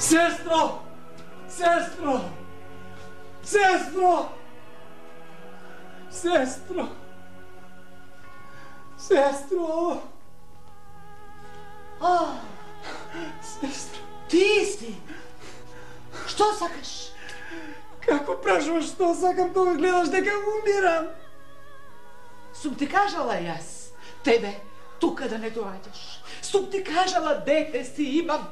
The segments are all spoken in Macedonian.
Сестро! Сестро! Сестро! Сестро! Сестро! Сестро! Ти си! Што сакаш? Како прашуваш што сакам, кога гледаш дека умирам? Сум ти кажала јас, тебе тука да не доаѓаш. Сум ти кажала, дете си имам.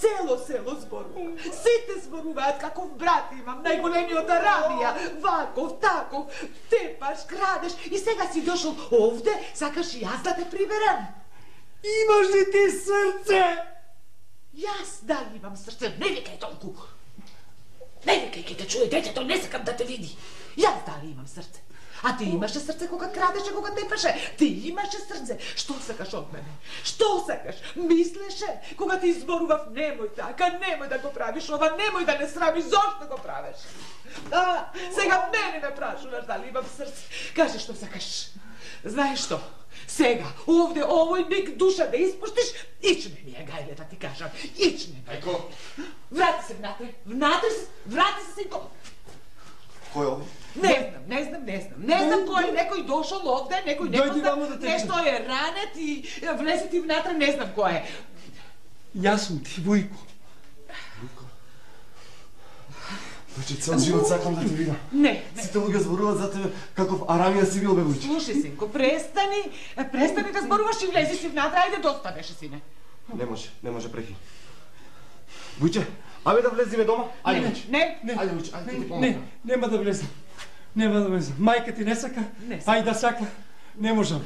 Цело село зборува. Сите зборуваат каков брат имам, најголемиот Арамија. Ваков, таков, тепаш, крадеш и сега си дошол овде, сакаш и јас да те приберам. Имаш ли ти срце? Јас дали имам срце, не викај толку. Не викај, ке те чуе детето, не сакам да те види. Јас дали имам срце. А ти имаше срце кога крадеше, кога тепаше. Ти имаше срце. Што сакаш од мене? Што сакаш? Мислеше? Кога ти изборував, немој така, немој да го правиш ова, немој да не срамиш, зошто го правиш? Сега мене ме прашуваш дали имам срце. Кажи што сакаш. Знаеш што? Сега, овде, овој миг душа да испуштиш, ичне ми е, гајле, да ти кажам. Ичне ми. Ајко? Врати се внатре. Врати се, синко. Кој е овој? Не знам кој, некој дошол овде, некој нешто е ранет и влезе ти внатре, не знам кој е. Јас сум ти, Вујко. Вујко? Вујче, цел живот сакам да те видам. Не. Сите луѓе зборуваат за тебе каков Арамија си бил, бе, Вујче. Слушај, синко, престани да зборуваш и влези си внатре, ајде доста беше, сине. Не може прехи. Вујче, абе да влезиме дома? Ајде, Вујче. Не. Ајде, Вујче, ајде ти помогам. Нема да влезам. Нема да влезам. Мајка ти не сака, ајде да сака. Не можам.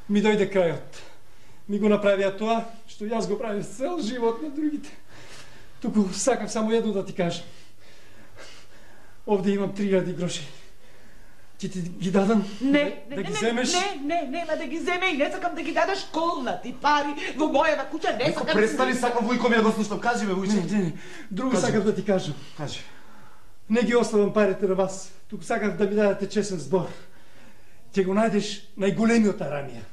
Ми дојде крајот. Ми го направија тоа што јас го правив цел живот на другите. Туку сакам само едно да ти кажам. Овде имам 3000 гроши. Ќе ти ги дадам? Да ги земеш? Не, нема да ги земе и не сакам да ги дадеш колнати пари во мојава куќа, не сакам. Престани, сакам Вујко ми да го слушам. Кажи ме, Вујче. Не. Друго сакам да ти кажам. Кажи. Не ги оставам парите на вас. Туку сакам да ми дадете честен збор. Ќе го најдеш најголемиот Арамија.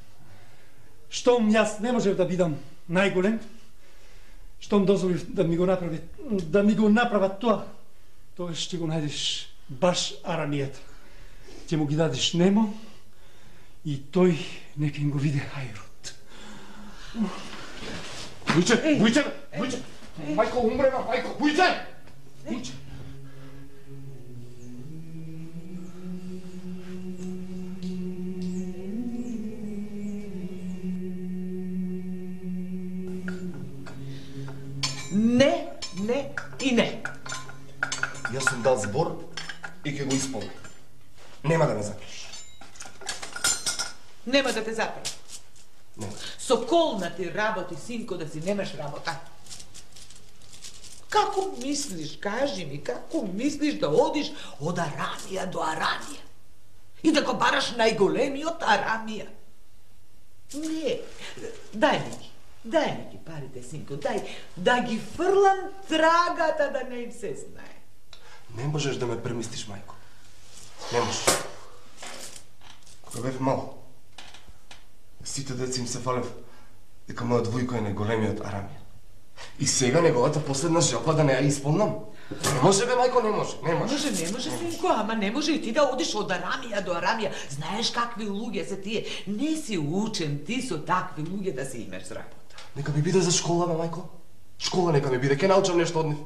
Штом јас не можев да бидам најголем, штом дозволив да ми го направат тоа, тогаш ќе го најдеш баш Арамијата. Ќе му ги дадеш Немо и тој нека им го види хајрот. Вујче! Мајко умрема, мајко! Вујче! Не и не. Јас сум дал збор и ќе го исполнам. Нема да ме запреш. Нема да те запреш. Со колнати работи, синко, да си немаш работа. Како мислиш, кажи ми, како мислиш да одиш од Арамија до Арамија? И да го бараш најголемиот Арамија? Не, дај ми ги парите, синко, дај, да ги фрлам трагата да не им се знае. Не можеш да ме премистиш, мајко. Не можеш. Кога бев мал, сите деца им се фалев дека мојот Вујко е најголемиот Арамија. И сега неговата последна желба да не ја исполнам. Не може, бе, мајко, не може. Не може, синко, ама не може и ти да одиш од Арамија до Арамија. Знаеш какви луѓе се тие. Не си учен ти со такви луѓе да си имаш работа. Нека ми биде за школа, бе, мајко. Школа нека ми биде, ке научам нешто од нив.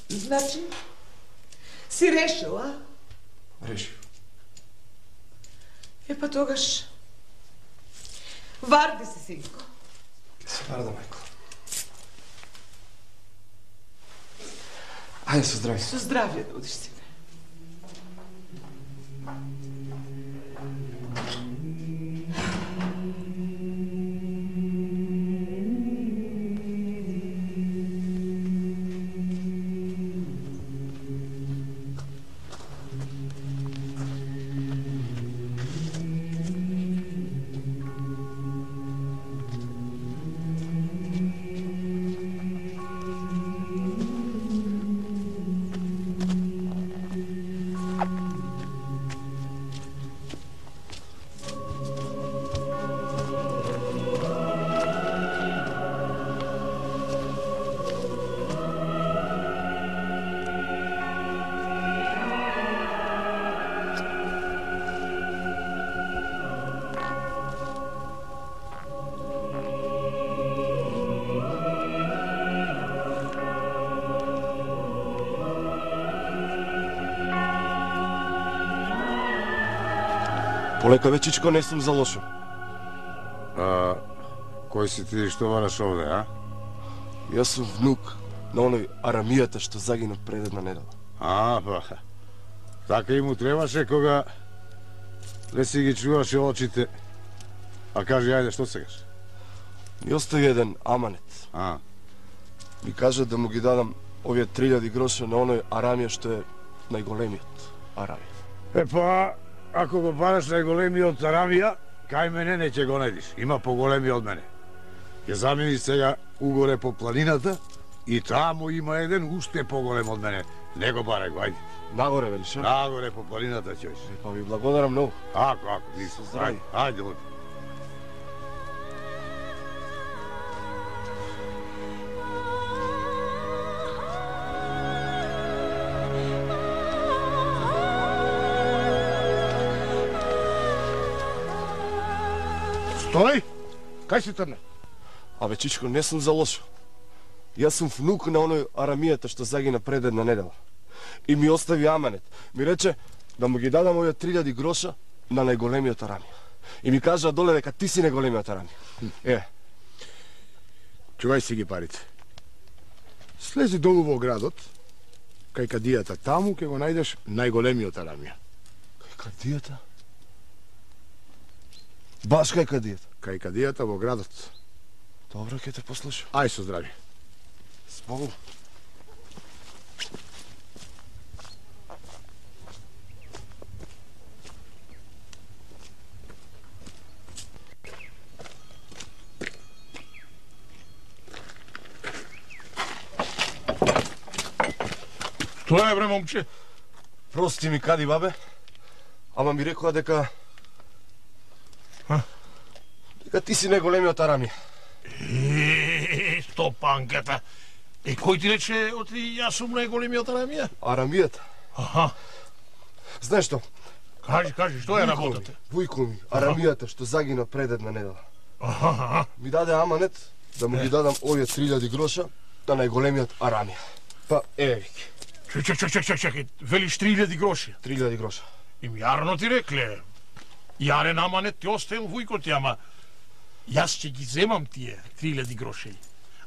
Значи, си решил, а? Решив. Па тогаш, варди се, синко. Се варда, мајко. Ајде, со здравје. Со здравје да одиш, сине. Полека вечичко не сум за лошо. Кој си ти што бараш овде, а? Јас сум внук на оној Арамијата што загина пред една недела. Па. Така и му требаше кога не си ги чуваше очите. А кажи, ајде, што сегаш? Ми остави еден аманет. Ми кажа да му ги дадам овие 3000 гроша на оној Арамија што е најголемиот Арамија. Па, ако го бараш најголемиот Арамија, кај мене не ќе го најдиш. Има поголеми од мене. Ќе заминиш сега угоре по планината и таму има еден уште поголем од мене. Не го барај го, ајде. Нагоре, велиш? Нагоре по планината ќе оиш. Па ви благодарам многу. Ако, нисо. Ајде, оди. Стој! Кај си трне? Абе, чичко, не сум за лошо. Јас сум внук на оној Арамијата што загина пред една недела. И ми остави аманет. Ми рече да му ги дадам овие 3000 гроша на најголемиот Арамија. И ми кажа доле дека ти си најголемиот Арамија. Чувај си ги парите. Слези долу во градот, кај кадијата, таму ќе го најдеш најголемиот Арамија. Кај кадијата? Баш кај кадијата? Кај кадијата во градот. Добро, ќе те послушам. Ај со здрави. Збогу. Што е, бре, момче? Прости ми, кади, бабе? Ама ми рекоа дека... Дека ти си најголемиот Арамија. Стопанката. Кој ти рече оти јас сум најголемиот Арамија? Арамијата? Знаеш што? Кажи, што е работата? Вујко ми, Арамијата што загина пред една недела. Ми даде аманет да му ги дадам овие 3000 гроша на најголемиот Арамија. Па, еве ги. Чекај, велиш 3000 гроши? 3000 гроша. Им јарно ти рекле. Јарен аманет ти оставил вујко ти, ама јас ќе ги земам тие 3000 гроши.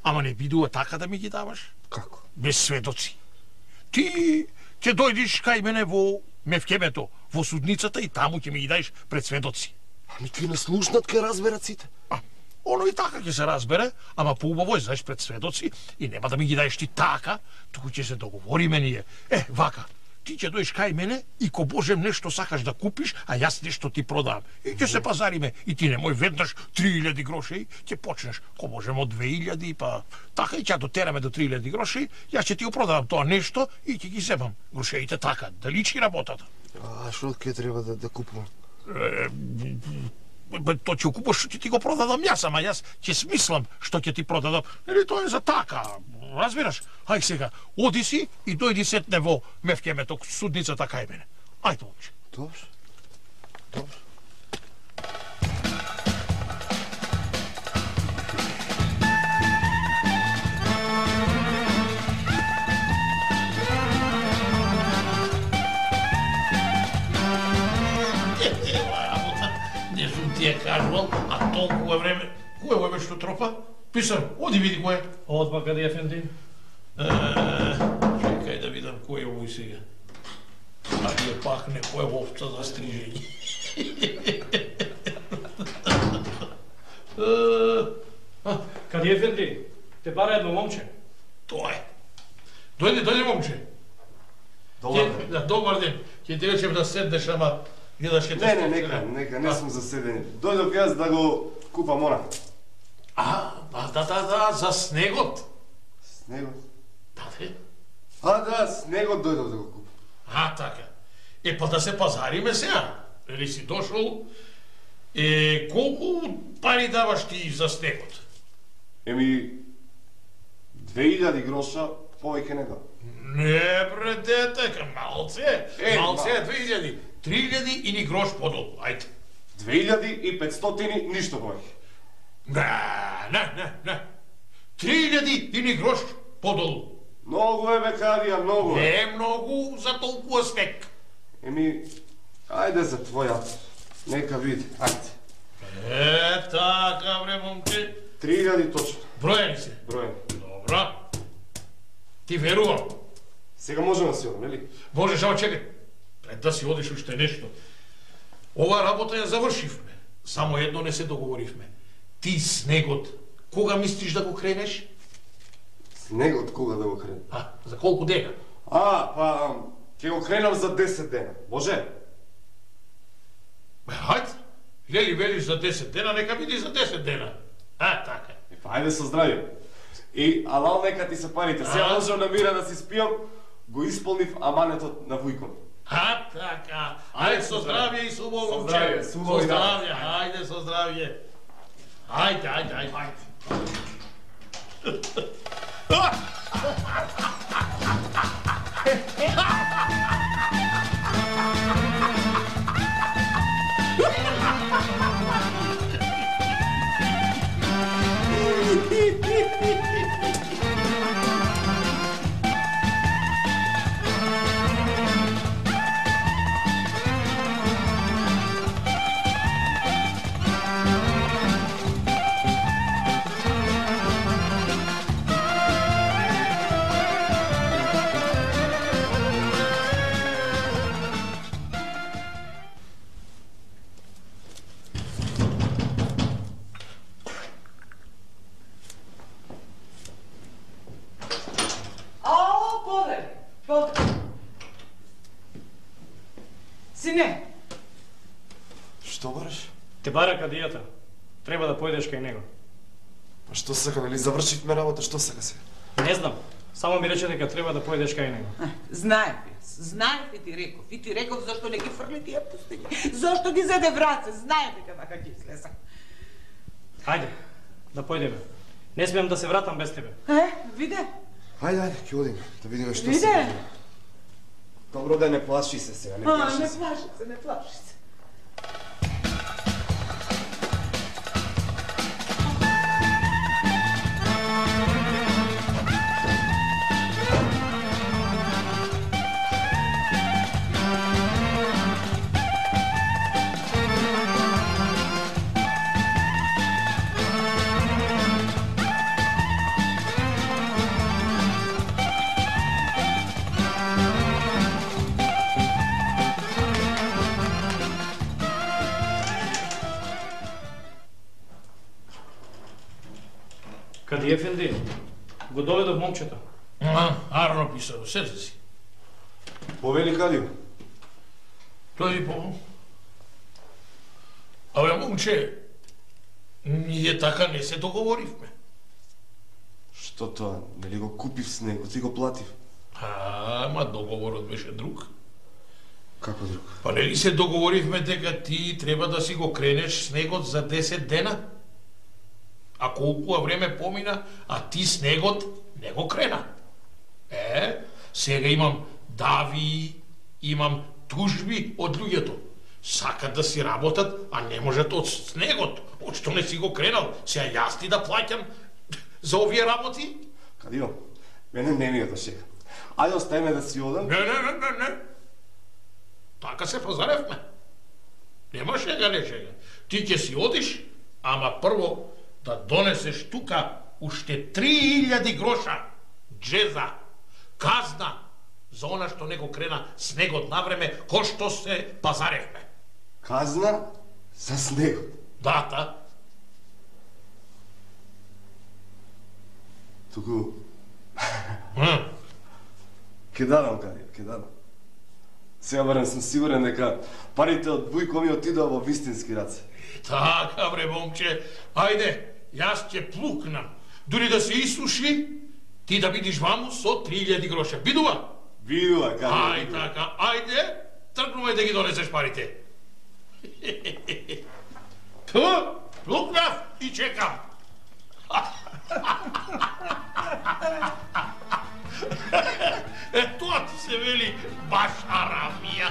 Ама не бидува така да ми ги даваш? Како? Без сведоци. Ти ќе дојдиш кај мене во Мевкемето, во судницата и таму ќе ми ги даеш пред сведоци. Ами ти не слушнат ке разберат сите. Оно и така ќе се разбере, ама поубаво е знаеш пред сведоци и нема да ми ги даеш ти така, туку ќе се договориме ние. Вака, ти ќе дојдеш кај мене и ко Божем нешто сакаш да купиш, а јас нешто ти продавам. И ќе се пазариме и ти немој веднаш 3000 гроши, ќе почнеш ко Божем од 2000, па така и ќе дотераме до 3000 гроши, јас ќе ти го продавам тоа нешто и ќе ги земам грошеите така, да личи работата. А што ќе треба да купувам? Тоа ќе купиш што ќе ти го продадам јас, ама јас ќе смислам што ќе ти продадам. Нели тоа е за така, разбираш? Ај сега, оди си и дојди сетне во Мевкемето, судницата кај мене. Ајде, момче. Добро. Добро. Ти е кажувал, а толкова време... Кој е што тропа? Писар, оди види кој е. Одма каде ефенди? Чекај да видам кој е овој сега. Ајде пак некој овца за стрижење. Каде ефенди? Те бара едно момче. Тоа е. Дојде момче. Добар ден. Ќе ти речем да седнеш, ама гледаш ке те... Нека, не сум за седење. Дојдов јас да го купам она. Да, за снегот. Снегот? Да, снегот дојдов да го купам. Така. Па да се пазариме сега. Или си дошол? Колку пари даваш ти за снегот? 2000 гроша повеќе не дам. Не, бре, дете, малце е 2000. 3000 и ни грош подолу, ајде. 2500 ништо повеќе. Не. 3000 и ни грош подолу. Многу е, бекарија, многу е. Не е многу за толкова снег. Ајде за твојат. Нека види, ајде. Така, бре, момче. 3000 точно. Броени се. Броени. Добро. Ти верувам. Сега можеме да си одам, нели? Можеш, ама чекај. Пред да си одиш уште нешто. Ова работа ја завршивме. Само едно не се договоривме. Ти снегот, кога мислиш да го кренеш? Снегот кога да го кренем? За колку дека? Ќе го кренам за 10 дена. Може? Хајде. Лели велиш за 10 дена, нека биде за 10 дена. Така. Ајде со здравје. И алал нека ти се парите. Сега можам на мира да си спијам, го исполнив аманетот на вујком. Така. Ајде со здравје и со Богом, здравје, со убави здравје, ајде со здравје. Ајде. Сине! Што бараш? Те бара кадијата. Треба да појдеш кај него. Па што сака, нели завршивме работа, што сака се? Не знам. Само ми рече дека треба да појдеш кај него. Знаев и ти реков. И ти реков зашто не ги фрли тие пустини. Зашто ги заде враце. Знаев дека така ќе излеза. Ајде, да појдеме. Не смеам да се вратам без тебе. Виде? Ајде, ќе одиме, да видиме што Виде? се. Добро да не плаши се сега, не плаши се. Не плаши се. Кади ефенди? Го доведов момчето. Арно писано, сете си. Повели Кадио. Тој по... Абе, момче, ние така не се договоривме. Што тоа? Нели го купив снегот и го платив? Ама договорот беше друг. Како друг? Па нели се договоривме дека ти треба да си го кренеш снегот за 10 дена? А колку време помина, а ти снегот не го крена. Сега имам дави, имам тужби од луѓето. Сакат да си работат, а не можат од снегот. Од што не си го кренал, сега јас ти да плаќам за овие работи? Кадио, мене не ми е да шега. Ајде оставиме да си одам. Не. Така се позаревме. Нема шега, не шега. Ти ќе си одиш, ама прво да донесеш тука уште 3000 гроша джеза, казна за она што не го крена снегот на време, кој што се пазаревме. Казна за снегот. Дата. Туку... Ке дадам, Кадио, ке дадам. Сега барем сум сигурен дека парите од Вујко ми отидоа во вистински раце. Така, бре, момче. Ајде, јас ќе плукнам. Дури да се исуши, ти да бидиш ваму со 3000 гроша. Бидува? Видува, Кадио. Ај, така, ајде, тргнувај да ги донесеш парите. Плукнав и чекам. Тоа ти се вели баш арамија.